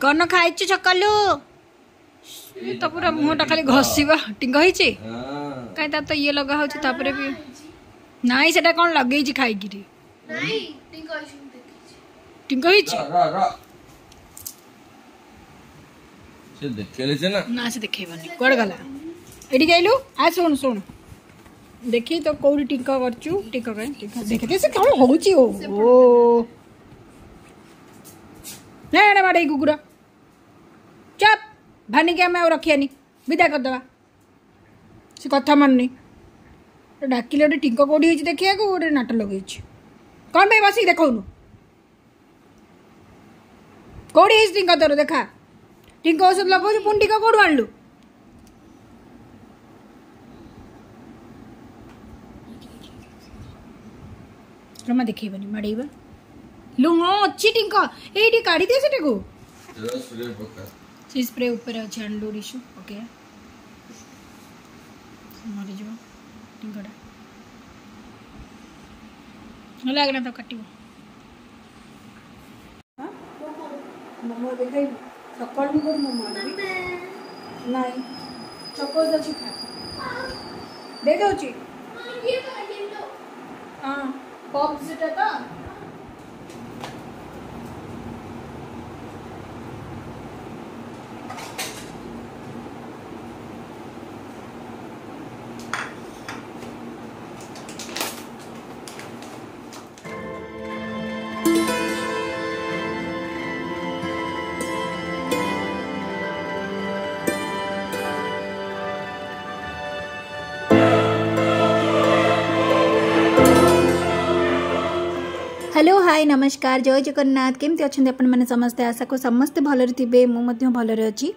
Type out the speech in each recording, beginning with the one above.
କଣ ଖାଇଛୁ ସକାଳୁ? ତ ପୁରା ମୁହଁଟା ଖାଲି ଘଷିବା। ଟିଙ୍କ ହେଇଛି କାଇଁ? ତାର ତ ଇଏ ଲଗା ହଉଛି, ତାପରେ ବି ନାଇଁ। ସେଟା କଣ ଲଗେଇଛି ଖାଇକିରି? ଟିଙ୍କ ହେଇଛି ନା? ସେ ଦେଖେଇବନି। କୁଆଡେ ଗଲା? ଏଠିକି ଆଇଲୁ। ଆ, ଶୁଣ ଶୁଣ, ଦେଖି ତ କୋଉଠି ଟିଙ୍କ କରିଛୁ? ଟିଙ୍କ କାଇଁ? ଟିଙ୍କ ଦେଖେ, ସେ କଣ ହଉଛି? ଓ ଓ ନା, ଏଇଟା ବାଡ଼େଇ କୁକୁର। ଚପ୍ ଭାନିକି ଆମେ ଆଉ ରଖିବାନି, ବିଦା କରିଦେବା। ସେ କଥା ମାନୁନି। ଡାକିଲେ ଗୋଟେ ଟିଙ୍କ କୋଉଠି ହେଇଛି ଦେଖିବାକୁ, ଗୋଟେ ନାଟ ଲଗେଇଛି। କଣ ପାଇଁ ବସିକି ଦେଖଉନୁ? କୋଉଠି ହେଇଛି ଟିଙ୍କ ତୋର ଦେଖା। ଟିଙ୍କ ଔଷଧ ଲଗାଉଛୁ, ପୁଣି ଟିଙ୍କ କୋଉଠୁ ଆଣିଲୁ? ଜମା ଦେଖେଇବନି, ମାଡ଼େଇବା। ଲୁ, ହଁ ଅଛି ଟିଙ୍କ ଏଇଠି, କାଢିଦିଅ ସେଟାକୁ। ସେ ସ୍ପ୍ରେ ଉପରେ ଅଛି, ଆଣିଲୁ ରିଶୁ। ଓକେ, ମରିଯିବ ଟିଙ୍କଟା। ଲାଗନା ତାକୁ କାଟିବ। ମୋମୋ ଦେଖାଇବୁ ସକାଳୁ? ମୁଁ କୋଉଠି ମୋମୋ ଆଣିବି? ନାଇଁ, ଚକୋସ୍ ଅଛି, ଖା, ଦେଇଦଉଛି। ହଁ, ପପ୍ ସେଟା ତ। ହ୍ୟାଲୋ, ହାଏ, ନମସ୍କାର, ଜୟ ଜଗନ୍ନାଥ। କେମିତି ଅଛନ୍ତି ଆପଣମାନେ ସମସ୍ତେ? ଆଶା କରୁ ସମସ୍ତେ ଭଲରେ ଥିବେ। ମୁଁ ମଧ୍ୟ ଭଲରେ ଅଛି।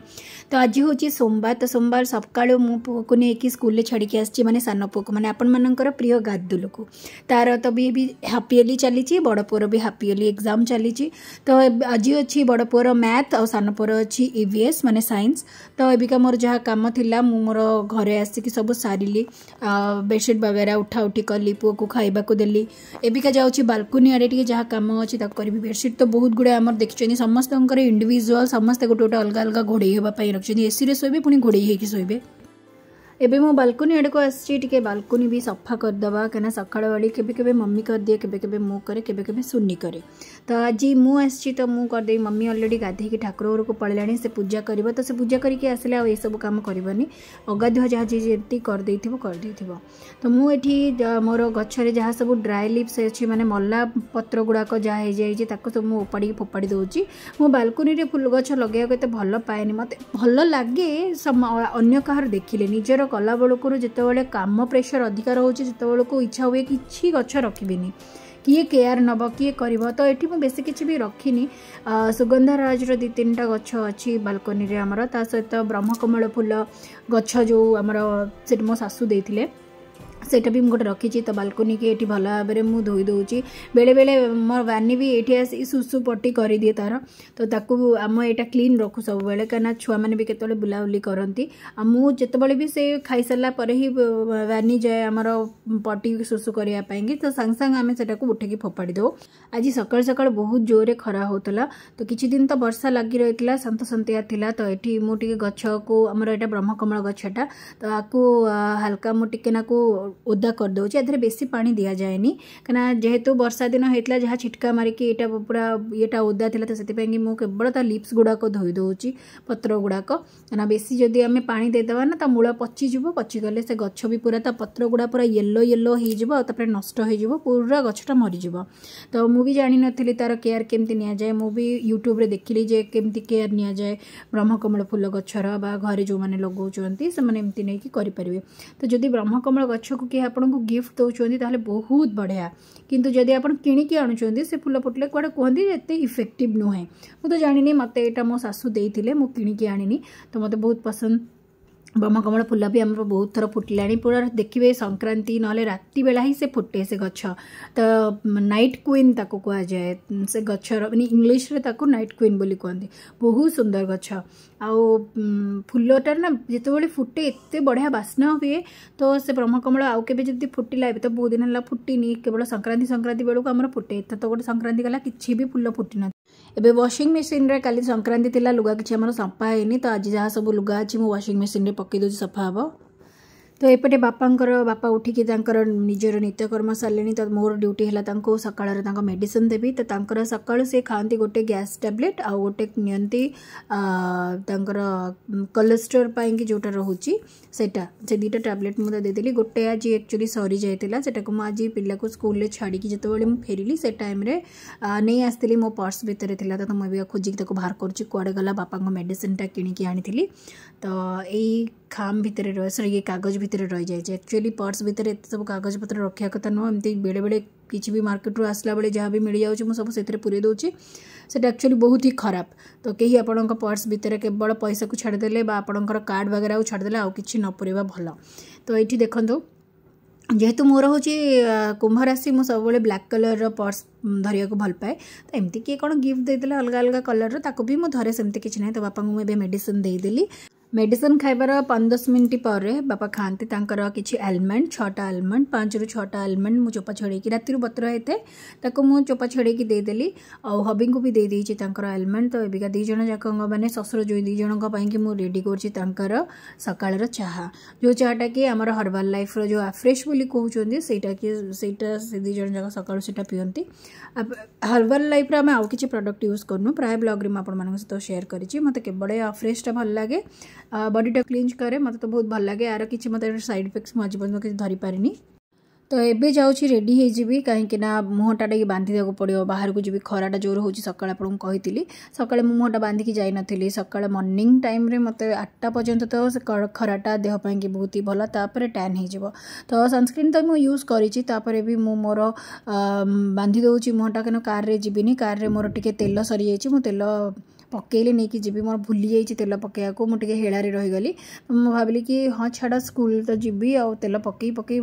ତ ଆଜି ହେଉଛି ସୋମବାର। ତ ସୋମବାର ସକାଳୁ ମୁଁ ପୁଅକୁ ନେଇକି ସ୍କୁଲରେ ଛାଡ଼ିକି ଆସିଛି, ମାନେ ସାନ ପୁଅକୁ, ମାନେ ଆପଣମାନଙ୍କର ପ୍ରିୟ ଗାଦୁଲକୁ। ତାର ତ ବି ହାପ୍ ଇୟରଲି ଚାଲିଛି, ବଡ଼ ପୁଅର ବି ହାପ୍ ଇୟରଲି ଏକ୍ଜାମ୍ ଚାଲିଛି। ତ ଆଜି ଅଛି ବଡ଼ ପୁଅର ମ୍ୟାଥ୍ ଆଉ ସାନ ପୁଅର ଅଛି ଇଭିଏସ୍, ମାନେ ସାଇନ୍ସ। ତ ଏବିକା ମୋର ଯାହା କାମ ଥିଲା ମୁଁ ମୋର ଘରେ ଆସିକି ସବୁ ସାରିଲି, ବେଡ଼ସିଟ୍ ବଗେରା ଉଠା ଉଠି କଲି, ପୁଅକୁ ଖାଇବାକୁ ଦେଲି। ଏବିକା ଯାଉଛି ବାଲକୁନି ଆଡ଼େ, ଟିକେ ଯାହା କାମ ଅଛି ତାକୁ କରିବି। ବେଡ଼ସିଟ୍ ତ ବହୁତ ଗୁଡ଼ାଏ ଆମର ଦେଖିଛନ୍ତି, ସମସ୍ତଙ୍କର ଇଣ୍ଡିଭିଜୁଆଲ୍, ସମସ୍ତେ ଗୋଟେ ଗୋଟେ ଅଲଗା ଅଲଗା ଘୋଡ଼େଇ ହେବା ପାଇଁ ରଖିଛନ୍ତି। ଏସିରେ ଶୋଇବେ, ପୁଣି ଘୋଡ଼େଇ ହେଇକି ଶୋଇବେ। ଏବେ ମୁଁ ବାଲକୁନି ଆଡ଼କୁ ଆସିଛି, ଟିକେ ବାଲକୁନି ବି ସଫା କରିଦେବା, କାହିଁକିନା ସକାଳ ବେଳି କେବେ କେବେ ମମି କରିଦିଏ, କେବେ କେବେ ମୁଁ କରେ, କେବେ କେବେ ସୁନି କରେ। ତ ଆଜି ମୁଁ ଆସିଛି ତ ମୁଁ କରିଦେବି। ମମି ଅଲରେଡ଼ି ଗାଧେଇକି ଠାକୁର ଘରକୁ ପଳେଇଲାଣି, ସେ ପୂଜା କରିବ। ତ ସେ ପୂଜା କରିକି ଆସିଲେ ଆଉ ଏସବୁ କାମ କରିବନି, ଅଗାଧୁଆ ଯାହା ଯିଏ ଯେମିତି କରିଦେଇଥିବ କରିଦେଇଥିବ। ତ ମୁଁ ଏଠି ମୋର ଗଛରେ ଯାହା ସବୁ ଡ୍ରାଏ ଲିଭ୍ସ ଅଛି, ମାନେ ମଲା ପତ୍ର ଗୁଡ଼ାକ ଯାହା ହେଇଯାଇଛି, ତାକୁ ସବୁ ମୁଁ ଉପାଡ଼ିକି ଫୋପାଡ଼ି ଦେଉଛି। ମୁଁ ବାଲକୁନିରେ ଫୁଲ ଗଛ ଲଗେଇବାକୁ ଏତେ ଭଲ ପାଏନି। ମୋତେ ଭଲ ଲାଗେ ଅନ୍ୟ କାହାର ଦେଖିଲେ, ନିଜର କଲାବେଳକୁ ଯେତେବେଳେ କାମ ପ୍ରେସର ଅଧିକା ରହୁଛି ସେତେବେଳକୁ ଇଚ୍ଛା ହୁଏ କିଛି ଗଛ ରଖିବିନି, କିଏ କେୟାର ନେବ, କିଏ କରିବ। ତ ଏଠି ମୁଁ ବେଶୀ କିଛି ବି ରଖିନି। ସୁଗନ୍ଧରାଜର 2 3ଟା ଗଛ ଅଛି ବାଲକୋନିରେ ଆମର, ତା ସହିତ ବ୍ରହ୍ମକମଳ ଫୁଲ ଗଛ ଯେଉଁ ଆମର ସେଠି ମୋ ଶାଶୁ ଦେଇଥିଲେ, ସେଇଟା ବି ମୁଁ ଗୋଟେ ରଖିଛି। ତ ବାଲକୋନିକି ଏଠି ଭଲ ଭାବରେ ମୁଁ ଧୋଇ ଦେଉଛି। ବେଳେବେଳେ ମୋର ବାନି ବି ଏଇଠି ଆସି ସୁସୁ ପଟି କରିଦିଏ ତାର, ତ ତାକୁ ଆମ ଏଇଟା କ୍ଲିନ୍ ରଖୁ ସବୁବେଳେ, କାହିଁକିନା ଛୁଆମାନେ ବି କେତେବେଳେ ବୁଲାବୁଲି କରନ୍ତି। ଆଉ ମୁଁ ଯେତେବେଳେ ବି ସେ ଖାଇସାରିଲା ପରେ ହିଁ ବାନି ଯାଏ ଆମର ପଟି ସୁସୁ କରିବା ପାଇଁକି, ତ ସାଙ୍ଗେ ସାଙ୍ଗେ ଆମେ ସେଟାକୁ ଉଠେଇକି ଫୋପାଡ଼ି ଦେଉ। ଆଜି ସକାଳୁ ସକାଳୁ ବହୁତ ଜୋରରେ ଖରା ହେଉଥିଲା। ତ କିଛି ଦିନ ତ ବର୍ଷା ଲାଗି ରହିଥିଲା, ସନ୍ତସନ୍ତିଆ ଥିଲା। ତ ଏଠି ମୁଁ ଟିକେ ଗଛକୁ, ଆମର ଏଇଟା ବ୍ରହ୍ମକମଳ ଗଛଟା, ତ ଆକୁ ହାଲକା ମୁଁ ଟିକେ ନାକୁ ଓଦା କରିଦେଉଛି। ଏଥିରେ ବେଶୀ ପାଣି ଦିଆଯାଏନି, କାହିଁକିନା ଯେହେତୁ ବର୍ଷା ଦିନ ହେଇଥିଲା, ଯାହା ଛିଟକା ମାରିକି ଏଇଟା ପୁରା ଇଏଟା ଓଦା ଥିଲା, ତ ସେଥିପାଇଁକି ମୁଁ କେବଳ ତା ଲିପ୍ସ ଗୁଡ଼ାକ ଧୋଇ ଦେଉଛି, ପତ୍ର ଗୁଡ଼ାକ। କାହିଁକିନା ବେଶୀ ଯଦି ଆମେ ପାଣି ଦେଇଦେବା ନା, ତା ମୂଳ ପଚିଯିବ। ପଚିଗଲେ ସେ ଗଛ ବି ପୁରା ତା ପତ୍ର ଗୁଡ଼ା ପୁରା ୟେଲୋ ୟେଲୋ ହେଇଯିବ, ଆଉ ତାପରେ ନଷ୍ଟ ହେଇଯିବ, ପୁରା ଗଛଟା ମରିଯିବ। ତ ମୁଁ ବି ଜାଣିନଥିଲି ତାର କେୟାର କେମିତି ନିଆଯାଏ। ମୁଁ ବି ୟୁଟ୍ୟୁବରେ ଦେଖିଲି ଯେ କେମିତି କେୟାର ନିଆଯାଏ ବ୍ରହ୍ମକମଳ ଫୁଲ ଗଛର, ବା ଘରେ ଯେଉଁମାନେ ଲଗାଉଛନ୍ତି ସେମାନେ ଏମିତି ନେଇକି କରିପାରିବେ। ତ ଯଦି ବ୍ରହ୍ମକମଳ ଗଛକୁ କିଏ ଆପଣଙ୍କୁ ଗିଫ୍ଟ ଦେଉଛନ୍ତି ତାହେଲେ ବହୁତ ବଢ଼ିଆ, କିନ୍ତୁ ଯଦି ଆପଣ କିଣିକି ଆଣୁଛନ୍ତି, ସେ ଫୁଲ ଫୁଟିଲେ କୁଆଡ଼େ କୁହନ୍ତି ଏତେ ଇଫେକ୍ଟିଭ୍ ନୁହେଁ। ମୁଁ ତ ଜାଣିନି, ମୋତେ ଏଇଟା ମୋ ଶାଶୁ ଦେଇଥିଲେ, ମୁଁ କିଣିକି ଆଣିନି। ତ ମୋତେ ବହୁତ ପସନ୍ଦ। ବ୍ରହ୍ମକମଳ ଫୁଲ ବି ଆମର ବହୁତ ଥର ଫୁଟିଲାଣି। ପୁରା ଦେଖିବେ ସଂକ୍ରାନ୍ତି ନହେଲେ ରାତି ବେଳା ହିଁ ସେ ଫୁଟେ ସେ ଗଛ। ତ ନାଇଟ୍ କୁଇନ୍ ତାକୁ କୁହାଯାଏ ସେ ଗଛର, ମାନେ ଇଂଲିଶରେ ତାକୁ ନାଇଟ୍ କୁଇନ୍ ବୋଲି କୁହନ୍ତି। ବହୁତ ସୁନ୍ଦର ଗଛ। ଆଉ ଫୁଲଟାର ନା ଯେତେବେଳେ ଫୁଟେ ଏତେ ବଢ଼ିଆ ବାସ୍ନା ହୁଏ। ତ ସେ ବ୍ରହ୍ମକମଳ ଆଉ କେବେ ଯଦି ଫୁଟିଲା, ଏବେ ତ ବହୁତ ଦିନ ହେଲା ଫୁଟିନି, କେବଳ ସଂକ୍ରାନ୍ତି ସଂକ୍ରାନ୍ତି ବେଳକୁ ଆମର ଫୁଟେ। ଏଥର ତ ଗୋଟେ ସଂକ୍ରାନ୍ତି ଗଲା, କିଛି ବି ଫୁଲ ଫୁଟିନଥିଲା। ଏବେ ୱାସିଂ ମେସିନ୍ରେ, କାଲି ସଂକ୍ରାନ୍ତି ଥିଲା, ଲୁଗା କିଛି ଆମର ସଫା ହେଇନି। ତ ଆଜି ଯାହା ସବୁ ଲୁଗା ଅଛି ମୁଁ ୱାସିଂ ମେସିନ୍ରେ ପକାଇ ଦେଉଛି, ସଫା ହେବ। ତ ଏପଟେ ବାପାଙ୍କର, ବାପା ଉଠିକି ତାଙ୍କର ନିଜର ନିତ୍ୟକର୍ମ ସାରିଲେଣି। ତ ମୋର ଡ୍ୟୁଟି ହେଲା ତାଙ୍କୁ ସକାଳର ତାଙ୍କ ମେଡ଼ିସିନ ଦେବି। ତ ତାଙ୍କର ସକାଳୁ ସେ ଖାଆନ୍ତି ଗୋଟେ ଗ୍ୟାସ୍ ଟ୍ୟାବଲେଟ୍ ଆଉ ଗୋଟେ ନିଅନ୍ତି ତାଙ୍କର କୋଲେଷ୍ଟ୍ରଲ୍ ପାଇଁକି ଯେଉଁଟା ରହୁଛି ସେଇଟା। ସେ 2ଟା ଟ୍ୟାବଲେଟ୍ ମୁଁ ଦେଇଦେଲି। ଗୋଟେ ଆଜି ଆକ୍ଚୁଆଲି ସରିଯାଇଥିଲା, ସେଟାକୁ ମୁଁ ଆଜି ପିଲାକୁ ସ୍କୁଲରେ ଛାଡ଼ିକି ଯେତେବେଳେ ମୁଁ ଫେରିଲି ସେ ଟାଇମ୍ରେ ନେଇ ଆସିଥିଲି, ମୋ ପର୍ସ ଭିତରେ ଥିଲା। ତ ମୁଁ ଏବେ ଖୋଜିକି ତାକୁ ବାହାର କରୁଛି, କୁଆଡ଼େ ଗଲା। ବାପାଙ୍କ ମେଡ଼ିସିନଟା କିଣିକି ଆଣିଥିଲି, ତ ଏଇ ଖାମ ଭିତରେ ରହେ, ସରି, ଇଏ କାଗଜ ଭିତରେ ରହିଯାଇଛି। ଆକ୍ଚୁଆଲି ପର୍ସ ଭିତରେ ଏତେ ସବୁ କାଗଜପତ୍ର ରଖିବା କଥା ନୁହଁ। ଏମିତି ବେଳେବେଳେ କିଛି ବି ମାର୍କେଟରୁ ଆସିଲା ବେଳେ ଯାହା ବି ମିଳିଯାଉଛି ମୁଁ ସବୁ ସେଥିରେ ପୁରେଇ ଦେଉଛି। ସେଇଟା ଆକ୍ଚୁଆଲି ବହୁତ ହି ଖରାପ। ତ କେହି ଆପଣଙ୍କ ପର୍ସ ଭିତରେ କେବଳ ପଇସାକୁ ଛାଡ଼ିଦେଲେ ବା ଆପଣଙ୍କର କାର୍ଡ଼ ବଗେରାକୁ ଛାଡ଼ିଦେଲେ ଆଉ କିଛି ନ ପୁରେଇବା ଭଲ। ତ ଏଇଠି ଦେଖନ୍ତୁ, ଯେହେତୁ ମୋର ହେଉଛି କୁମ୍ଭ ରାଶି, ମୁଁ ସବୁବେଳେ ବ୍ଲାକ୍ କଲର୍ର ପର୍ସ ଧରିବାକୁ ଭଲ ପାଏ। ତ ଏମିତି କିଏ କ'ଣ ଗିଫ୍ଟ ଦେଇଦେଲେ ଅଲଗା ଅଲଗା କଲର୍ର, ତାକୁ ବି ମୁଁ ଧରେ, ସେମିତି କିଛି ନାହିଁ। ତ ବାପାଙ୍କୁ ମୁଁ ଏବେ ମେଡ଼ିସିନ ଦେଇଦେଲି। ମେଡ଼ିସିନ ଖାଇବାର 15 ମିନିଟ୍ ପରେ ବାପା ଖାଆନ୍ତି ତାଙ୍କର କିଛି ଆଲମଣ୍ଡ, 6ଟା ଆଲମଣ୍ଡ, 5ରୁ 6ଟା ଆଲମଣ୍ଡ ମୁଁ ଚୋପା ଛଡ଼େଇକି ରାତିରୁ ବତୁରା ହେଇଥାଏ, ତାକୁ ମୁଁ ଚୋପା ଛଡ଼େଇକି ଦେଇଦେଲି। ଆଉ ହବିଙ୍କୁ ବି ଦେଇଦେଇଛି ତାଙ୍କର ଆଲମଣ୍ଡ। ତ ଏବିକା 2 ଜଣ ଯାକଙ୍କ, ମାନେ ଶ୍ୱଶୁର ଯେଉଁ 2 ଜଣଙ୍କ ପାଇଁକି ମୁଁ ରେଡ଼ି କରୁଛି ତାଙ୍କର ସକାଳର ଚାହା, ଯେଉଁ ଚାହାଟା କି ଆମର ହର୍ବାଲ୍ ଲାଇଫ୍ର ଯେଉଁ ଆଫ୍ରେଶ୍ ବୋଲି କହୁଛନ୍ତି ସେଇଟା କି ସେଇଟା। ସେ 2 ଜଣ ଯାକ ସକାଳୁ ସେଇଟା ପିଅନ୍ତି। ହର୍ବାଲ୍ ଲାଇଫ୍ର ଆମେ ଆଉ କିଛି ପ୍ରଡ଼କ୍ଟ ୟୁଜ୍ କରୁନୁ। ପ୍ରାୟ ବ୍ଲଗ୍ରେ ମୁଁ ଆପଣମାନଙ୍କ ସହିତ ସେୟାର କରିଛି। ମୋତେ କେବଳ ଆଫ୍ରେଶ୍ଟା ଭଲ ଲାଗେ, ବଡ଼ିଟା କ୍ଲିଞ୍ଜ କରେ, ମୋତେ ତ ବହୁତ ଭଲ ଲାଗେ। ଆର କିଛି ମୋତେ ସାଇଡ଼୍ ଇଫେକ୍ଟସ୍ ମୁଁ ଆଜି ପର୍ଯ୍ୟନ୍ତ କିଛି ଧରିପାରିନି। ତ ଏବେ ଯାଉଛି ରେଡ଼ି ହେଇଯିବି, କାହିଁକି ନା ମୁହଁଟା ଟିକେ ବାନ୍ଧି ଦେବାକୁ ପଡ଼ିବ, ବାହାରକୁ ଯିବି, ଖରାଟା ଜୋର ହେଉଛି। ସକାଳେ ଆପଣଙ୍କୁ କହିଥିଲି, ସକାଳେ ମୁଁ ମୁହଁଟା ବାନ୍ଧିକି ଯାଇନଥିଲି। ସକାଳେ ମର୍ଣ୍ଣିଂ ଟାଇମ୍ରେ ମୋତେ 8ଟା ପର୍ଯ୍ୟନ୍ତ ତ ସେ ଖରାଟା ଦେହ ପାଇଁକି ବହୁତ ହି ଭଲ, ତାପରେ ଟ୍ୟାନ୍ ହେଇଯିବ। ତ ସନସ୍କ୍ରିନ୍ ତ ମୁଁ ୟୁଜ୍ କରିଛି, ତାପରେ ବି ମୁଁ ମୋର ବାନ୍ଧି ଦେଉଛି ମୁହଁଟା, କାରଣ କାର୍ରେ ଯିବିନି। କାର୍ରେ ମୋର ଟିକେ ତେଲ ସରିଯାଇଛି, ମୁଁ ତେଲ ପକେଇଲେ ନେଇକି ଯିବି। ମୋର ଭୁଲି ଯାଇଛି ତେଲ ପକେଇବାକୁ, ମୁଁ ଟିକେ ହେଳାରେ ରହିଗଲି। ମୁଁ ଭାବିଲି କି ହଁ ଛାଡ଼, ସ୍କୁଲ ତ ଯିବି ଆଉ ତେଲ ପକେଇ ପକେଇ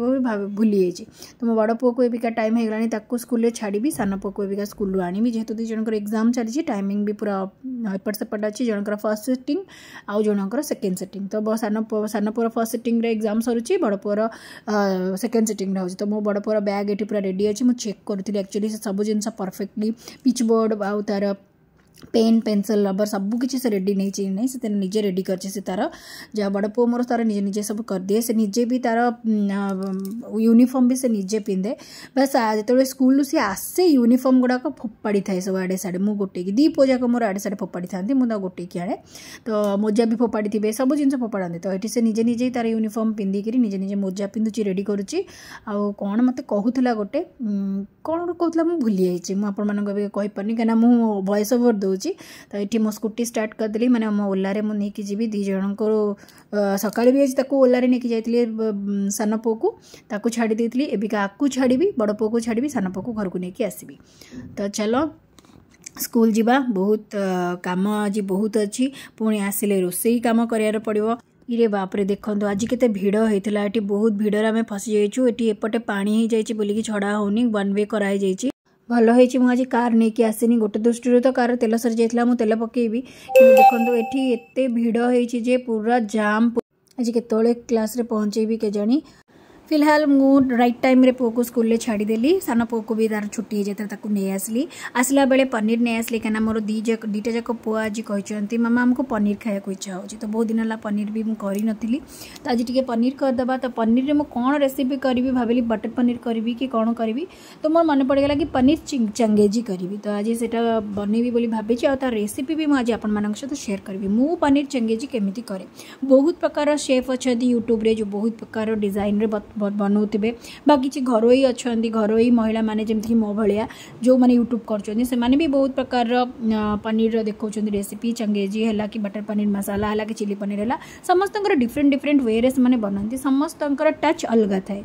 ଭୁଲି ଯାଇଛି। ତ ମୋ ବଡ଼ ପୁଅକୁ ଏବିକା ଟାଇମ୍ ହେଇଗଲାଣି, ତାକୁ ସ୍କୁଲରେ ଛାଡ଼ିବି, ସାନ ପୁଅକୁ ଏବିକା ସ୍କୁଲରୁ ଆଣିବି। ଯେହେତୁ 2 ଜଣଙ୍କର ଏକ୍ଜାମ୍ ଚାଲିଛି, ଟାଇମିଂ ବି ପୁରା ଏପଟ ସେପଟ ଅଛି। ଜଣଙ୍କର ଫର୍ଷ୍ଟ ସିଟିଂ ଆଉ ଜଣଙ୍କର ସେକେଣ୍ଡ ସିଟିଂ। ତ ସାନ ପୁଅର ଫର୍ଷ୍ଟ ସିଟିଂରେ ଏକ୍ଜାମ୍ ସରୁଛି, ବଡ଼ ପୁଅର ସେକେଣ୍ଡ ସିଟିଂରେ ହେଉଛି। ତ ମୋ ବଡ଼ ପୁଅର ବ୍ୟାଗ୍ ଏଠି ପୁରା ରେଡ଼ି ଅଛି। ମୁଁ ଚେକ୍ କରୁଥିଲି ଆକ୍ଚୁଆଲି ସେ ସବୁ ଜିନିଷ ପରଫେକ୍ଟଲି, ପିଚ୍ ବୋର୍ଡ଼ ଆଉ ତାର ପେନ୍, ପେନ୍ସିଲ୍, ରବର ସବୁ କିଛି ସେ ରେଡ଼ି ନେଇଛି ନାହିଁ, ସେ ନିଜେ ରେଡ଼ି କରିଛି। ସେ ତାର ଯାହା ବଡ଼ ପୁଅ ମୋର ତାର ନିଜେ ନିଜେ ସବୁ କରିଦିଏ। ସେ ନିଜେ ବି ତାର ୟୁନିଫର୍ମ ବି ସେ ନିଜେ ପିନ୍ଧେ। ବାସ୍, ଯେତେବେଳେ ସ୍କୁଲରୁ ସିଏ ଆସେ ୟୁନିଫର୍ମ ଗୁଡ଼ାକ ଫୋପାଡ଼ି ଥାଏ ସବୁ ଆଡ଼େ ସାଡ଼େ। ମୁଁ ଗୋଟେଇକି, 2 ପୁଅ ଯାକ ମୋର ଆଡ଼େ ସାଡ଼େ ଫୋପାଡ଼ିଥାନ୍ତି, ମୁଁ ତାକୁ ଗୋଟେଇକି ଆଣେ। ତ ମୋଜା ବି ଫୋପାଡ଼ିଥିବେ, ସବୁ ଜିନିଷ ଫୋପାଡ଼ନ୍ତି। ତ ଏଠି ସେ ନିଜେ ନିଜେ ତାର ୟୁନିଫର୍ମ ପିନ୍ଧିକିରି ନିଜେ ନିଜେ ମୋଜା ପିନ୍ଧୁଛି, ରେଡ଼ି କରୁଛି। ଆଉ କ'ଣ ମୋତେ କହୁଥିଲା ଗୋଟେ, କ'ଣ ଗୋଟେ କହୁଥିଲା, ମୁଁ ଭୁଲି ଯାଇଛି। ମୁଁ ଆପଣମାନଙ୍କୁ ଏବେ କହିପାରୁନି, କାହିଁକିନା ମୁଁ ଭଏସ୍ ଓଭର୍ ଦେଉଛି। ତ ଏଠି ମୋ ସ୍କୁଟି ଷ୍ଟାର୍ଟ କରିଦେଲି, ମାନେ ମୋ ଓଲାରେ ମୁଁ ନେଇକି ଯିବି 2 ଜଣଙ୍କୁ। ସକାଳେ ବି ଆଜି ତାକୁ ଓଲାରେ ନେଇକି ଯାଇଥିଲି, ସାନ ପୁଅକୁ ତାକୁ ଛାଡ଼ି ଦେଇଥିଲି। ଏବିକା ଆକୁ ଛାଡ଼ିବି, ବଡ଼ ପୁଅକୁ ଛାଡ଼ିବି, ସାନ ପୁଅକୁ ଘରକୁ ନେଇକି ଆସିବି। ତ ଚାଲ ସ୍କୁଲ ଯିବା, ବହୁତ କାମ ଆଜି ବହୁତ ଅଛି, ପୁଣି ଆସିଲେ ରୋଷେଇ କାମ କରିବାର ପଡ଼ିବ। ଇରେ ବାପରେ, ଦେଖନ୍ତୁ ଆଜି କେତେ ଭିଡ଼ ହେଇଥିଲା ଏଠି। ବହୁତ ଭିଡ଼ରେ ଆମେ ଫସିଯାଇଛୁ ଏଠି। ଏପଟେ ପାଣି ହେଇଯାଇଛି ବୋଲିକି ଛଡ଼ା ହେଉନି, ୱାନ୍ ୱେ କରାହେଇଯାଇଛି। ଭଲ ହେଇଛି ମୁଁ ଆଜି କାର୍ ନେଇକି ଆସିନି। ଗୋଟେ ଦୃଷ୍ଟିରୁ ତ କାର୍ ତେଲ ସରିଯାଇଥିଲା, ମୁଁ ତେଲ ପକେଇବି, କିନ୍ତୁ ଦେଖନ୍ତୁ ଏଠି ଏତେ ଭିଡ଼ ହେଇଛି ଯେ ପୁରା ଜାମ୍। ଆଜି କେତେବେଳେ କ୍ଲାସ୍ରେ ପହଞ୍ଚେଇବି କେଜାଣି। ଫିଲହାଲ ମୁଁ ରାଇଟ୍ ଟାଇମ୍ରେ ପୁଅକୁ ସ୍କୁଲରେ ଛାଡ଼ିଦେଲି। ସାନ ପୁଅକୁ ବି ତାର ଛୁଟି ହେଇଯାଇଥିଲା, ତାକୁ ନେଇ ଆସିଲି। ଆସିଲା ବେଳେ ପନିର ନେଇ ଆସିଲି, କାହିଁକିନା ମୋର 2ଟା ଯାକ ପୁଅ ଆଜି କହିଛନ୍ତି, ମାମା ଆମକୁ ପନିର ଖାଇବାକୁ ଇଚ୍ଛା ହେଉଛି। ତ ବହୁତ ଦିନ ହେଲା ପନିର ବି ମୁଁ କରିନଥିଲି, ତ ଆଜି ଟିକେ ପନିର କରିଦେବା। ତ ପନିରରେ ମୁଁ କ'ଣ ରେସିପି କରିବି ଭାବିଲି, ବଟର ପନିର କରିବି କି କ'ଣ କରିବି। ତ ମୋର ମନେ ପଡ଼ିଗଲା କି ପନିର ଚଙ୍ଗେଜି କରିବି। ତ ଆଜି ସେଇଟା ବନେଇବି ବୋଲି ଭାବିଛି, ଆଉ ତା ରେସିପି ବି ମୁଁ ଆଜି ଆପଣମାନଙ୍କ ସହିତ ସେୟାର କରିବି, ମୁଁ ପନିର ଚଙ୍ଗେଜି କେମିତି କରେ। ବହୁତ ପ୍ରକାର ସେଫ୍ ଅଛନ୍ତି ୟୁଟ୍ୟୁବରେ, ଯେଉଁ ବହୁତ ପ୍ରକାର ଡିଜାଇନରେ ବନଉଥିବେ, ବା କିଛି ଘରୋଇ ଅଛନ୍ତି, ଘରୋଇ ମହିଳାମାନେ ଯେମିତିକି ମୋ ଭଳିଆ ଯେଉଁମାନେ ୟୁଟ୍ୟୁବ୍ କରୁଛନ୍ତି, ସେମାନେ ବି ବହୁତ ପ୍ରକାରର ପନିରର ଦେଖାଉଛନ୍ତି ରେସିପି। ଚଙ୍ଗେଜି ହେଲା କି ବଟର ପନିର ମସାଲା ହେଲା କି ଚିଲି ପନିର ହେଲା, ସମସ୍ତଙ୍କର ଡିଫରେଣ୍ଟ ଡିଫରେଣ୍ଟ ୱେରେ ସେମାନେ ବନାନ୍ତି। ସମସ୍ତଙ୍କର ଟଚ୍ ଅଲଗା ଥାଏ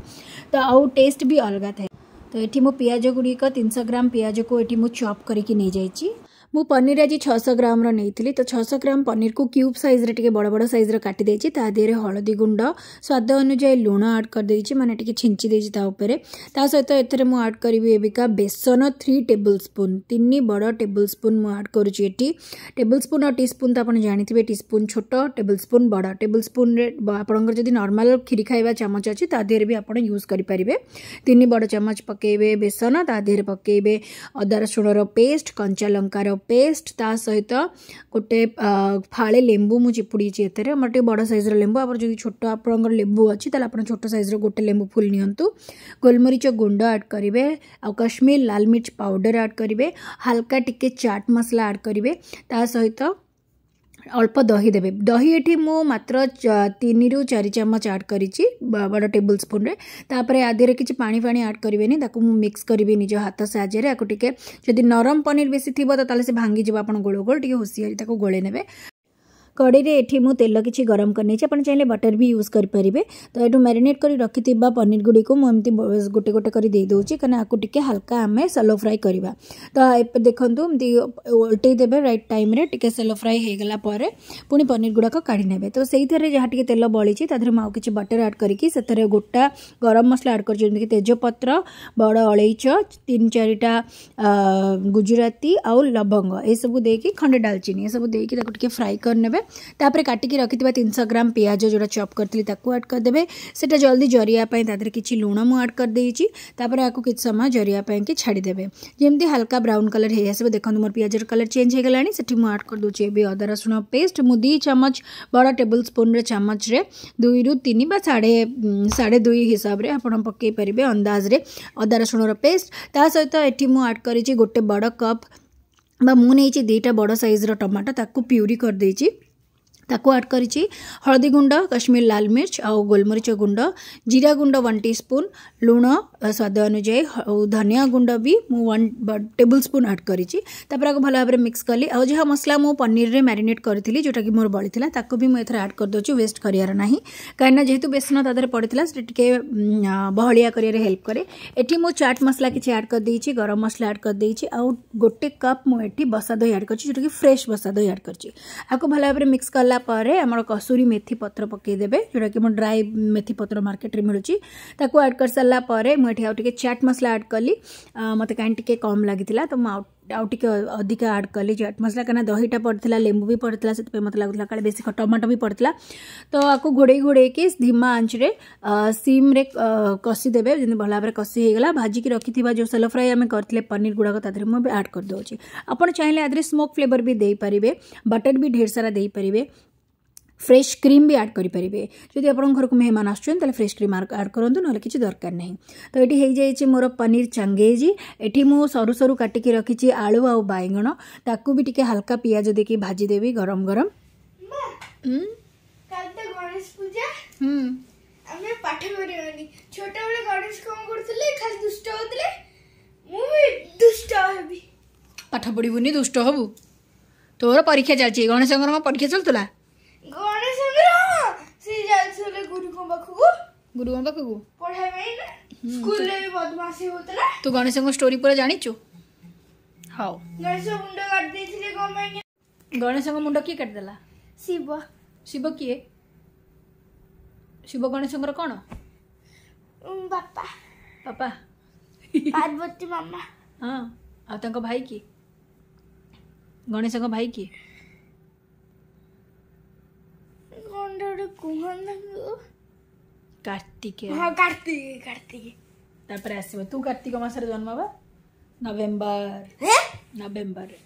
ତ ଆଉ ଟେଷ୍ଟ ବି ଅଲଗା ଥାଏ। ତ ଏଠି ମୁଁ ପିଆଜ ଗୁଡ଼ିକ 300 ଗ୍ରାମ ପିଆଜକୁ ଏଠି ମୁଁ ଚପ୍ କରିକି ନେଇଯାଇଛି। ମୁଁ ପନିର ଆଜି 600 ଗ୍ରାମର ନେଇଥିଲି। ତ 600 ଗ୍ରାମ ପନିରକୁ କ୍ୟୁବ୍ ସାଇଜ୍ରେ ଟିକେ ବଡ଼ ବଡ଼ ସାଇଜ୍ର କାଟି ଦେଇଛି। ତା ଦେହରେ ହଳଦୀ ଗୁଣ୍ଡ, ସ୍ୱାଦ ଅନୁଯାୟୀ ଲୁଣ ଆଡ଼୍ କରିଦେଇଛି, ମାନେ ଟିକେ ଛିଞ୍ଚି ଦେଇଛି ତା ଉପରେ। ତା ସହିତ ଏଥିରେ ମୁଁ ଆଡ଼୍ କରିବି ଏବିକା ବେସନ 3 ଟେବୁଲ୍ ସ୍ପୁନ୍, 3 ବଡ଼ ଟେବୁଲ୍ ସ୍ପୁନ୍ ମୁଁ ଆଡ଼୍ କରୁଛି ଏଠି। ଟେବୁଲ୍ ସ୍ପୁନ୍ ଆଉ ଟି ସ୍ପୁନ୍ ତ ଆପଣ ଜାଣିଥିବେ, ଟି ସ୍ପୁନ୍ ଛୋଟ, ଟେବୁଲ୍ ସ୍ପୁନ୍ ବଡ଼। ଟେବୁଲ୍ ସ୍ପୁନ୍ରେ ଆପଣଙ୍କର ଯଦି ନର୍ମାଲ୍ କ୍ଷୀରି ଖାଇବା ଚାମଚ ଅଛି ତା ଦେହରେ ବି ଆପଣ ୟୁଜ୍ କରିପାରିବେ। 3 ବଡ଼ ଚାମଚ ପକାଇବେ ବେସନ, ତା ଦେହରେ ପକାଇବେ ଅଦା ରସୁଣର ପେଷ୍ଟ, କଞ୍ଚା ଲଙ୍କାର ପେଷ୍ଟ, ତା ସହିତ ଗୋଟେ ଫାଳେ ଲେମ୍ବୁ ମୁଁ ଚିପୁଡ଼ିଛି ଏଥିରେ। ଆମର ଟିକେ ବଡ଼ ସାଇଜ୍ର ଲେମ୍ବୁ, ଆମର ଯଦି ଛୋଟ ଆପଣଙ୍କର ଲେମ୍ବୁ ଅଛି ତାହେଲେ ଆପଣ ଛୋଟ ସାଇଜ୍ର ଗୋଟେ ଲେମ୍ବୁ ଫୁଲ୍ ନିଅନ୍ତୁ। ଗୋଲମରିଚ ଗୁଣ୍ଡ ଆଡ଼୍ କରିବେ ଆଉ କାଶ୍ମୀର ଲାଲ ମିର୍ଚ ପାଉଡ଼ର ଆଡ଼୍ କରିବେ, ହାଲକା ଟିକେ ଚାଟ୍ ମସଲା ଆଡ଼୍ କରିବେ, ତା ସହିତ ଅଳ୍ପ ଦହି ଦେବେ। ଦହି ଏଠି ମୁଁ ମାତ୍ର 3ରୁ 4 ଚାମଚ ଆଡ଼୍ କରିଛି ବଡ଼ ଟେବୁଲ୍ ସ୍ପୁନ୍ରେ। ତାପରେ ଆ ଦେହରେ କିଛି ପାଣି ଫାଣି ଆଡ଼୍ କରିବେନି, ତାକୁ ମୁଁ ମିକ୍ସ କରିବି ନିଜ ହାତ ସାହାଯ୍ୟରେ। ଆକୁ ଟିକେ ଯଦି ନରମ ପନିର ବେଶୀ ଥିବ ତ ତାହେଲେ ସେ ଭାଙ୍ଗିଯିବ, ଆପଣ ଗୋଳ ଗୋଳ ଟିକେ ହୁସିଆରି ତାକୁ ଗୋଳେଇ ନେବେ। କଡ଼େଇରେ ଏଠି ମୁଁ ତେଲ କିଛି ଗରମ କରିନେଇଛି, ଆପଣ ଚାହିଁଲେ ବଟର୍ ବି ୟୁଜ୍ କରିପାରିବେ। ତ ଏଠୁ ମ୍ୟାରିନେଟ୍ କରି ରଖିଥିବା ପନିର ଗୁଡ଼ିକୁ ମୁଁ ଏମିତି ଗୋଟେ ଗୋଟେ କରି ଦେଇଦେଉଛି, କାରଣ ଆକୁ ଟିକେ ହାଲକା ଆମେ ସଲୋ ଫ୍ରାଏ କରିବା। ତ ଏବେ ଦେଖନ୍ତୁ ଏମିତି ଓଲଟେଇ ଦେବେ ରାଇଟ୍ ଟାଇମ୍ରେ, ଟିକେ ସଲୋ ଫ୍ରାଏ ହେଇଗଲା ପରେ ପୁଣି ପନିର ଗୁଡ଼ାକ କାଢ଼ି ନେବେ। ତ ସେଇଥିରେ ଯାହା ଟିକେ ତେଲ ବଳିଛି ତା ଦେହରେ ମୁଁ ଆଉ କିଛି ବଟର୍ ଆଡ଼୍ କରିକି ସେଥିରେ ଗୋଟା ଗରମ ମସଲା ଆଡ଼୍ କରିଛି, ଯେମିତିକି ତେଜପତ୍ର, ବଡ଼ ଅଳେଇଚ, 3-4ଟା ଗୁଜୁରାତି ଆଉ ଲବଙ୍ଗ ଏସବୁ ଦେଇକି, ଖଣ୍ଡେ ଡାଲଚିନି ଏସବୁ ଦେଇକି ତାକୁ ଟିକେ ଫ୍ରାଏ କରିନେବେ। ତାପରେ କାଟିକି ରଖିଥିବା 300 ଗ୍ରାମ ପିଆଜ ଯେଉଁଟା ଚପ୍ କରିଥିଲି ତାକୁ ଆଡ଼୍ କରିଦେବେ। ସେଇଟା ଜଲ୍ଦି ଜରିବା ପାଇଁ ତା ଦେହରେ କିଛି ଲୁଣ ମୁଁ ଆଡ଼୍ କରିଦେଇଛି। ତାପରେ ଆକୁ କିଛି ସମୟ ଜରିବା ପାଇଁକି ଛାଡ଼ିଦେବେ, ଯେମିତି ହାଲକା ବ୍ରାଉନ୍ କଲର୍ ହେଇ ଆସିବ। ଦେଖନ୍ତୁ ମୋର ପିଆଜର କଲର୍ ଚେଞ୍ଜ ହେଇଗଲାଣି। ସେଠି ମୁଁ ଆଡ଼୍ କରିଦେଉଛି ଏବେ ଅଦା ରସୁଣ ପେଷ୍ଟ। ମୁଁ 2 ଚାମଚ ବଡ଼ ଟେବୁଲ୍ ସ୍ପୁନ୍ର ଚାମଚରେ 2ରୁ 3 ବା 2.5 ହିସାବରେ ଆପଣ ପକାଇ ପାରିବେ ଅନ୍ଦାଜରେ ଅଦା ରସୁଣର ପେଷ୍ଟ। ତା ସହିତ ଏଠି ମୁଁ ଆଡ଼୍ କରିଛି ଗୋଟେ ବଡ଼ କପ୍ ବା ମୁଁ ନେଇଛି 2ଟା ବଡ଼ ସାଇଜ୍ର ଟମାଟୋ, ତାକୁ ପ୍ୟୁରି କରିଦେଇଛି, ତାକୁ ଆଡ଼୍ କରିଛି। ହଳଦୀ ଗୁଣ୍ଡ, କାଶ୍ମୀର ଲାଲ ମିର୍ଚ ଆଉ ଗୋଲମରିଚ ଗୁଣ୍ଡ, ଜିରା ଗୁଣ୍ଡ 1 ଟି ସ୍ପୁନ୍, ଲୁଣ ସ୍ୱାଦ ଅନୁଯାୟୀ ଆଉ ଧନିଆ ଗୁଣ୍ଡ ବି ମୁଁ 1 ଟେବୁଲ୍ ସ୍ପୁନ୍ ଆଡ଼୍ କରିଛି। ତାପରେ ଆକୁ ଭଲ ଭାବରେ ମିକ୍ସ କଲି। ଆଉ ଯାହା ମସଲା ମୁଁ ପନିରରେ ମ୍ୟାରିନେଟ୍ କରିଥିଲି ଯେଉଁଟାକି ମୋର ବଳିଥିଲା ତାକୁ ବି ମୁଁ ଏଥିରେ ଆଡ଼୍ କରିଦେଉଛି, ୱେଷ୍ଟ କରିବାର ନାହିଁ, କାହିଁକିନା ଯେହେତୁ ବେସନ ତା ଦେହରେ ପଡ଼ିଥିଲା ସେଟା ଟିକେ ବହଳିଆ କରିବାରେ ହେଲ୍ପ କରେ। ଏଠି ମୁଁ ଚାଟ୍ ମସଲା କିଛି ଆଡ଼୍ କରିଦେଇଛି, ଗରମ ମସଲା ଆଡ଼୍ କରିଦେଇଛି ଆଉ ଗୋଟେ କପ୍ ମୁଁ ଏଠି ବସା ଦହି ଆଡ଼୍ କରିଛି, ଯେଉଁଟାକି ଫ୍ରେଶ୍ ବସା ଦହି ଆଡ଼୍ କରିଛି। ଆକୁ ଭଲ ଭାବରେ ମିକ୍ସ କଲା ପରେ ଆମର କସୁରୀ ମେଥି ପତ୍ର ପକାଇଦେବେ, ଯେଉଁଟାକି ମୁଁ ଡ୍ରାଏ ମେଥି ପତ୍ର ମାର୍କେଟରେ ମିଳୁଛି, ତାକୁ ଆଡ଼୍ କରିସାରିଲା ପରେ ମୁଁ ଏଠି ଆଉ ଟିକେ ଚାଟ୍ ମସଲା ଆଡ଼୍ କଲି। ମୋତେ କାହିଁ ଟିକେ କମ୍ ଲାଗିଥିଲା ତ ମୁଁ ଆଉ ଟିକେ ଅଧିକା ଆଡ଼୍ କଲି ଚାଟ୍ ମସଲା, କାହିଁକିନା ଦହିଟା ପଡ଼ିଥିଲା, ଲେମ୍ବୁ ବି ପଡ଼ିଥିଲା, ସେଥିପାଇଁ ମୋତେ ଲାଗୁଥିଲା କାଳେ ବେଶୀ ଟମାଟୋ ବି ପଡ଼ିଥିଲା। ତ ଆକୁ ଘୋଡ଼େଇ ଘୋଡ଼େଇକି ଧୀମା ଆଞ୍ଚରେ ସିମ୍ରେ କଷିଦେବେ, ଯେମିତି ଭଲ ଭାବରେ କଷି ହେଇଗଲା। ଭାଜିକି ରଖିଥିବା ଯେଉଁ ସେଲୋ ଫ୍ରାଏ ଆମେ କରିଥିଲେ ପନିର ଗୁଡ଼ାକ ତା ଦେହରେ ମୁଁ ଏବେ ଆଡ଼୍ କରିଦେଉଛି। ଆପଣ ଚାହିଁଲେ ଆ ଦେହରେ ସ୍ମୋକ୍ ଫ୍ଲେଭର୍ ବି ଦେଇପାରିବେ, ବଟର୍ ବି ଢେର ସାରା ଦେଇପାରିବେ, ଫ୍ରେଶ୍ କ୍ରିମ୍ ବି ଆଡ଼୍ କରିପାରିବେ। ଯଦି ଆପଣଙ୍କ ଘରକୁ ମେହମାନ ଆସୁଛନ୍ତି ତାହେଲେ ଫ୍ରେଶ୍ କ୍ରିମ୍ ଆଡ଼୍ କରନ୍ତୁ, ନହେଲେ କିଛି ଦରକାର ନାହିଁ। ତ ଏଠି ହେଇଯାଇଛି ମୋର ପନିର ଚାଙ୍ଗେଜି। ଏଠି ମୁଁ ସରୁ ସରୁ କାଟିକି ରଖିଛି ଆଳୁ ଆଉ ବାଇଗଣ, ତାକୁ ବି ଟିକେ ହାଲକା ପିଆଜ ଦେଇକି ଭାଜିଦେବି ଗରମ ଗରମ। କାଲି ତ ଗଣେଶ ପୂଜା, ଆମେ ପାଠ କରିବାନି। ଛୋଟବେଳେ ଗଣେଶ କଣ କରୁଥିଲେ? ଖାଲି ଦୁଷ୍ଟ ହଉଥିଲେ, ମୁଁ ବି ଦୁଷ୍ଟ ହେବି। ପାଠ ପଢିବୁନି, ଦୁଷ୍ଟ ହବୁ? ତୋର ପରୀକ୍ଷା ଚାଲିଛି। ଗଣେଶଙ୍କର କଣ ପରୀକ୍ଷା ଚାଲୁଥିଲା? ଗଣେଶଙ୍କର ସେ ଯାଉଥିଲେ ଗୁରୁଙ୍କ ପାଖକୁ, ଗୁରୁଙ୍କ ପାଖକୁ ପଢିବା ପାଇଁ ନା, ସ୍କୁଲରେ ବି ବଦମାସି ହଉଥିଲା। ତୁ ଗଣେଶଙ୍କ ଷ୍ଟୋରି ପୁରା ଜାଣିଛୁ? ହଉ। ଗଣେଶ ମୁଣ୍ଡ କାଟି ଦେଇଥିଲେ କଣ ପାଇଁ? ଗଣେଶଙ୍କ ମୁଣ୍ଡ କିଏ କାଟିଦେଲା? ଶିବ। ଶିବ କିଏ? ଶିବ ଗଣେଶଙ୍କର କଣ? ବାପା। ବାପା? ପାର୍ବତୀ ମାମା। ହଁ, ଆଉ ତାଙ୍କ ଭାଇ କିଏ? ଗଣେଶଙ୍କ ଭାଇ କିଏ? କଣଟା ଗୋଟେ କୁହନ୍ତି? କାର୍ତ୍ତିକେୟ। ହଁ, କାର୍ତ୍ତିକ, କାର୍ତ୍ତିକ। ତାପରେ ଆସିବ ତୁ କାର୍ତ୍ତିକ ମାସରେ ଜନ୍ମ ବା ନଭେମ୍ବର, ନଭେମ୍ବରରେ।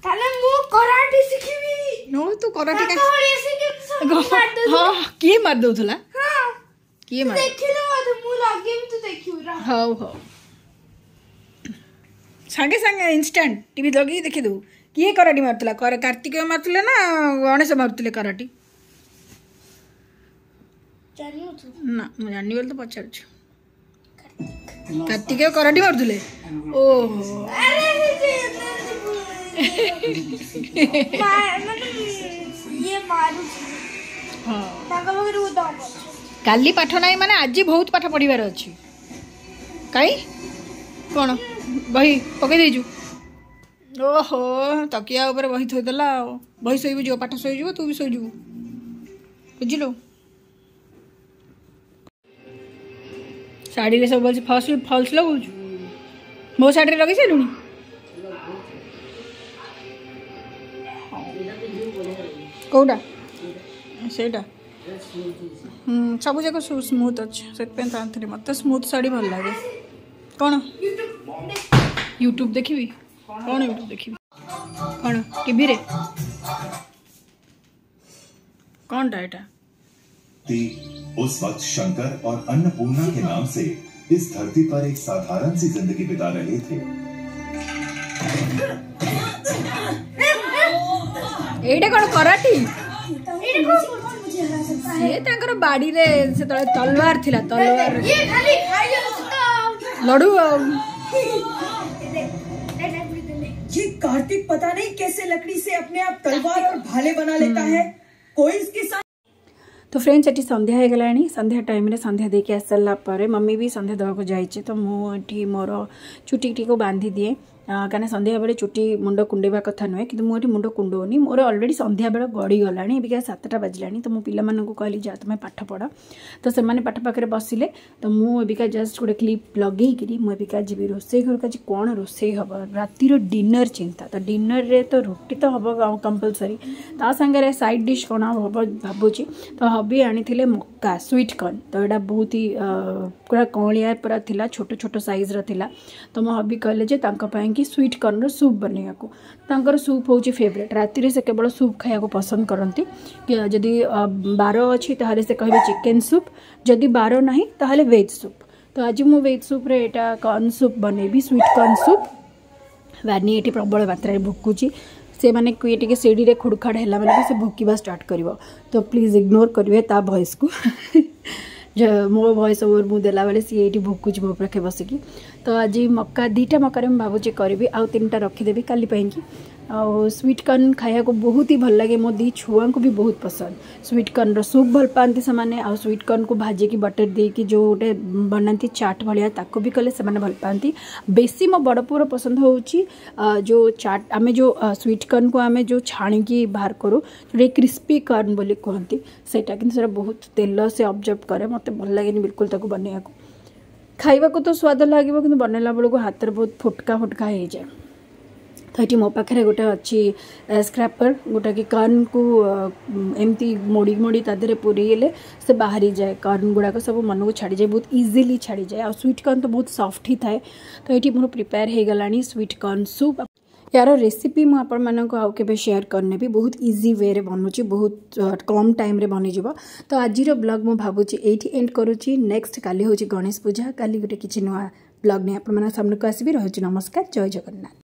ତାହେଲେ ମୁଁ କରାଟେ ଶିଖିବି। ନୋ, ତୁ କରାଟେ? ହଁ, କିଏ ମାରି ଦଉଥିଲା? କିଏ ମାରି? ଦେଖିଲୁ ମତେ, ମୁଁ ଲଗେଇବି, ତୁ ଦେଖିବୁ। ହଉ ହଉ, ସାଙ୍ଗେ ସାଙ୍ଗେ ଇନଷ୍ଟାଣ୍ଟ ଟିଭି ଲଗେଇକି ଦେଖିଦେବୁ। କିଏ କରାଟି ମାରୁଥିଲା? କାର୍ତ୍ତିକ ମାରୁଥିଲେ ନା ଗଣେଶ ମାରୁଥିଲେ କରାଟି? ନା, ମୁଁ ଜାଣିନି ବୋଲି ତ ପଚାରୁଛୁ। କାର୍ତ୍ତିକ କରାଟି ମାରୁଥିଲେ? ଓହୋ, ହଁ। କାଲି ପାଠ ନାହିଁ ମାନେ ଆଜି ବହୁତ ପାଠ ପଢ଼ିବାର ଅଛି। କାଇଁ କ'ଣ ବହି ପକେଇ ଦେଇଛୁ? ଓହୋ, ତକିଆ ଉପରେ ବହି ଥୋଇଦେଲା। ଆଉ ବହି ଶୋଇବୁ, ଯିବ ପାଠ ଶୋଇଯିବ, ତୁ ବି ଶୋଇଯିବୁ, ବୁଝିଲୁ? ଶାଢ଼ୀରେ ସବୁ ଫଲ୍ସ ଫଲ୍ସ ଲଗାଉଛୁ। ମୋ ଶାଢ଼ୀରେ ଲଗେଇ ସାରିଲୁଣି? କୋଉଟା ସେଇଟା? ସବୁ ଯାକ ସ୍ମୁଥ୍ ଅଛି, ସେଥିପାଇଁ ତ ଆଣିଥିଲି। ମୋତେ ସ୍ମୁଥ୍ ଶାଢ଼ୀ ଭଲ ଲାଗେ। କ'ଣ ୟୁଟ୍ୟୁବ୍ ଦେଖିବି? କ'ଣ ୟୁଟ୍ୟୁବ୍ ଦେଖିବି? କ'ଣ ଟିଭିରେ କ'ଣଟା ଏଇଟା? उस वक्त शंकर और अन्नपूर्णा के नाम से इस धरती पर एक साधारण सी जिंदगी बिता रहे थे। ଏଇଟା କ'ଣ କରାଟି? ସିଏ ତାଙ୍କର ବାଡିରେ ସେତେବେଳେ ତଲୱାର ଥିଲା, ତଲୱାର ଲଢୁ। ଆଉ ये कार्तिक पता नहीं कैसे लकड़ी से अपने आप तलवार और भाले बना लेता है। कोई इसके साथ। ତ ଫ୍ରେଣ୍ଡସ୍, ଏଠି ସନ୍ଧ୍ୟା ହେଇଗଲାଣି। ସନ୍ଧ୍ୟା ଟାଇମ୍ରେ ସନ୍ଧ୍ୟା ଦେଇକି ଆସିସାରିଲା ପରେ ମମି ବି ସନ୍ଧ୍ୟା ଦେବାକୁ ଯାଇଛି, ତ ମୁଁ ଏଠି ମୋର ଚୁଟିଟିକୁ ବାନ୍ଧି ଦିଏ, କାହିଁକିନା ସନ୍ଧ୍ୟାବେଳେ ଚୁଟି ମୁଣ୍ଡ କୁଣ୍ଡେଇବା କଥା ନୁହେଁ, କିନ୍ତୁ ମୁଁ ଏଠି ମୁଣ୍ଡ କୁଣ୍ଡଉନି। ମୋର ଅଲରେଡ଼ି ସନ୍ଧ୍ୟାବେଳ ଗଡ଼ିଗଲାଣି, ଏବିକା 7ଟା ବାଜିଲାଣି। ତ ମୁଁ ପିଲାମାନଙ୍କୁ କହିଲି, ଯା ତୁମେ ପାଠ ପଢ଼। ତ ସେମାନେ ପାଠ ପାଖରେ ବସିଲେ। ତ ମୁଁ ଏବିକା ଜଷ୍ଟ ଗୋଟେ କ୍ଲିପ୍ ଲଗେଇକିରି ମୁଁ ଏବିକା ଯିବି ରୋଷେଇ ଘରକୁ। ଆଜି କ'ଣ ରୋଷେଇ ହେବ, ରାତିର ଡିନର୍ ଚିନ୍ତା। ତ ଡିନର୍ରେ ତ ରୁଟି ତ ହେବ କମ୍ପଲସରି, ତା ସାଙ୍ଗରେ ସାଇଡ଼୍ ଡିଶ୍ କ'ଣ ହେବ ଭାବୁଛି। ତ ହବି ଆଣିଥିଲେ ମକା, ସୁଇଟ୍ କର୍ନ। ତ ଏଇଟା ବହୁତ ହି ପୁରା କଅଁଳିଆ ପୁରା ଥିଲା, ଛୋଟ ଛୋଟ ସାଇଜ୍ର ଥିଲା। ତ ମୋ ହବି କହିଲେ ଯେ ତାଙ୍କ ପାଇଁକି ସୁଇଟ୍ କର୍ନର ସୁପ୍ ବନେଇବାକୁ। ତାଙ୍କର ସୁପ୍ ହେଉଛି ଫେଭରେଟ୍। ରାତିରେ ସେ କେବଳ ସୁପ୍ ଖାଇବାକୁ ପସନ୍ଦ କରନ୍ତି। ଯଦି ବାର ଅଛି ତାହେଲେ ସେ କହିବେ ଚିକେନ୍ ସୁପ୍, ଯଦି ବାର ନାହିଁ ତାହେଲେ ଭେଜ୍ ସୁପ୍। ତ ଆଜି ମୁଁ ଭେଜ୍ ସୁପ୍ରେ ଏଇଟା କର୍ନ ସୁପ୍ ବନେଇବି, ସୁଇଟ୍ କର୍ନ ସୁପ୍। ଭାନି ଏଠି ପ୍ରବଳ ମାତ୍ରାରେ ଭୁକୁଛି। ସେମାନେ କିଏ ଟିକେ ସିଡ଼ିରେ ଖୁଡ଼ଖାଡ଼ ହେଲା ମାନେ ବି ସେ ଭୁକିବା ଷ୍ଟାର୍ଟ କରିବ। ତ ପ୍ଲିଜ୍ ଇଗ୍ନୋର କରିବେ ତା ଭଏସ୍କୁ। ମୋ ଭଏସ୍ ଓଭର ମୁଁ ଦେଲାବେଳେ ସିଏ ଏଇଠି ଭୁକୁଛି ମୋ ପାଖେ ବସିକି। ତ ଆଜି ମକା, 2ଟା ମକାରେ ମୁଁ ଭାବୁଛି କରିବି, ଆଉ 3ଟା ରଖିଦେବି କାଲି ପାଇଁକି। ଆଉ ସୁଇଟ୍ କର୍ନ ଖାଇବାକୁ ବହୁତ ହି ଭଲ ଲାଗେ, ମୋ 2 ଛୁଆଙ୍କୁ ବି ବହୁତ ପସନ୍ଦ। ସୁଇଟ୍ କର୍ନର ସୁପ୍ ଭଲ ପାଆନ୍ତି ସେମାନେ, ଆଉ ସୁଇଟ୍ କର୍ନକୁ ଭାଜିକି ବଟର୍ ଦେଇକି ଯେଉଁ ଗୋଟେ ବନାନ୍ତି ଚାଟ୍ ଭଳିଆ, ତାକୁ ବି କଲେ ସେମାନେ ଭଲ ପାଆନ୍ତି। ବେଶୀ ମୋ ବଡ଼ ପୁଅର ପସନ୍ଦ ହେଉଛି ଯେଉଁ ଚାଟ୍, ଆମେ ଯେଉଁ ସୁଇଟ୍ କର୍ନକୁ ଆମେ ଯେଉଁ ଛାଣିକି ବାହାର କରୁ, ଯେଉଁଟା କ୍ରିସ୍ପି କର୍ନ ବୋଲି କୁହନ୍ତି ସେଇଟା। କିନ୍ତୁ ସେଇଟା ବହୁତ ତେଲ ସେ ଅବଜର୍ଭ କରେ, ମୋତେ ଭଲ ଲାଗେନି ବିଲକୁଲ ତାକୁ ବନେଇବାକୁ। ଖାଇବାକୁ ତ ସ୍ୱାଦ ଲାଗିବ, କିନ୍ତୁ ବନେଇଲା ବେଳକୁ ହାତରେ ବହୁତ ଫୁଟକା ଫୁଟକା ହେଇଯାଏ। ତ ଏଠି ମୋ ପାଖରେ ଗୋଟେ ଅଛି ସ୍କ୍ରାପର, ଗୋଟାକି କର୍ନକୁ ଏମିତି ମୋଡ଼ି ମୋଡ଼ି ତା ଦେହରେ ପୁରେଇଲେ ସେ ବାହାରିଯାଏ, କର୍ନ ଗୁଡ଼ାକ ସବୁ ମନକୁ ଛାଡ଼ିଯାଏ, ବହୁତ ଇଜିଲି ଛାଡ଼ିଯାଏ। ଆଉ ସୁଇଟ୍ କର୍ନ ତ ବହୁତ ସଫ୍ଟ ହିଁ ଥାଏ। ତ ଏଠି ମୋର ପ୍ରିପେୟାର ହେଇଗଲାଣି ସୁଇଟ୍ କର୍ନ ସୁପ୍। ୟାର ରେସିପି ମୁଁ ଆପଣମାନଙ୍କୁ ଆଉ କେବେ ସେୟାର କରିନେବି। ବହୁତ ଇଜି ୱେରେ ବନୁଛି, ବହୁତ କମ୍ ଟାଇମ୍ରେ ବନିଯିବ। ତ ଆଜିର ବ୍ଲଗ୍ ମୁଁ ଭାବୁଛି ଏଇଠି ଏଣ୍ଡ କରୁଛି। ନେକ୍ସଟ କାଲି ହେଉଛି ଗଣେଶ ପୂଜା, କାଲି ଗୋଟେ କିଛି ନୂଆ ବ୍ଲଗ୍ ନେଇ ଆପଣମାନଙ୍କ ସାମ୍ନାକୁ ଆସିବି। ରହୁଛି, ନମସ୍କାର, ଜୟ ଜଗନ୍ନାଥ।